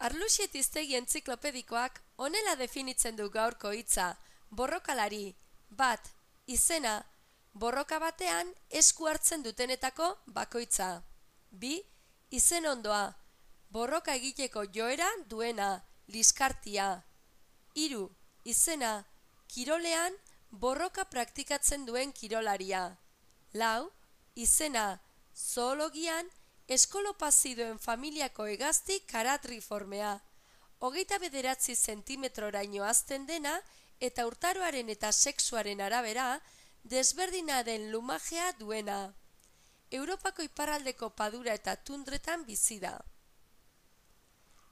Arluxiet hiztegi entziklopedikoak honela definitzen du gaurko hitza: borrokalari, bat, izena, borroka batean esku hartzen dutenetako bakoitza. 2. Izen ondoa, borroka egiteko joera duena, liskartia. 3. Izena, kirolean borroka praktikatzen duen kirolaria. 4. Izena, zoologian eskolopaziduen familiako hegazti karatriformea. 29 zentimetroraino hazten dena eta urtaroaren eta sexuaren arabera desberdina den lumajea duena. Europako iparraldeko padura eta tundretan bizi da.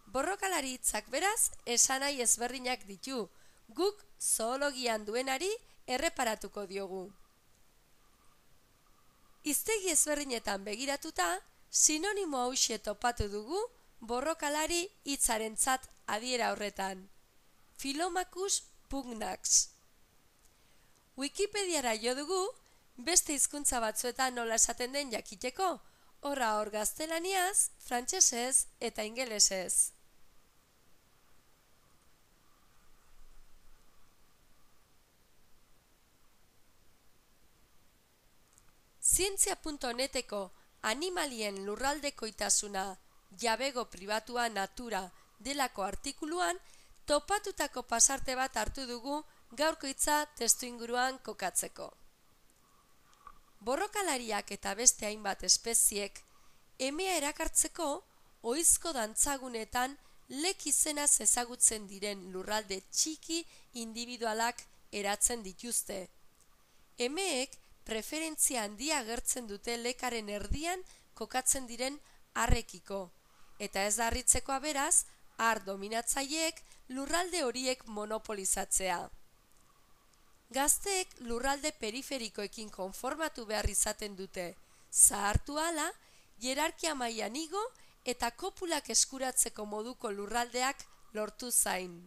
Borrokalari hitzak beraz esanahi ezberdinak ditu, guk zoologian duenari erreparatuko diogu. Hiztegi ezberdinetan begiratuta, sinonimo hauxe topatu dugu borrokalari hitzarentzat adiera horretan: Philomachus pugnax. Wikipediara jo dugu, beste hizkuntza batzuetan nola esaten den jakiteko, horra hor gaztelaniaz, frantsesez eta ingelesez. Zientzia.neteko animalien lurraldekoitasuna, jabego pribatua natura delako artikuluan topatutako pasarte bat hartu dugu gaurko hitza testuinguruan kokatzeko. Borrokalariak eta beste hainbat espeziek emea erakartzeko ohizko dantzagunetan lek izenaz ezagutzen diren lurralde txiki indibidualak eratzen dituzte. Emeek preferentzia handia agertzen dute lekaren erdian kokatzen diren arrekiko, eta ez da harritzekoa beraz, har dominatzaileek lurralde horiek monopolizatzea. Gazteek lurralde periferikoekin konformatu behar izaten dute, zahartu ahala, hierarkia mailan igo eta kopulak eskuratzeko moduko lurraldeak lortu zain.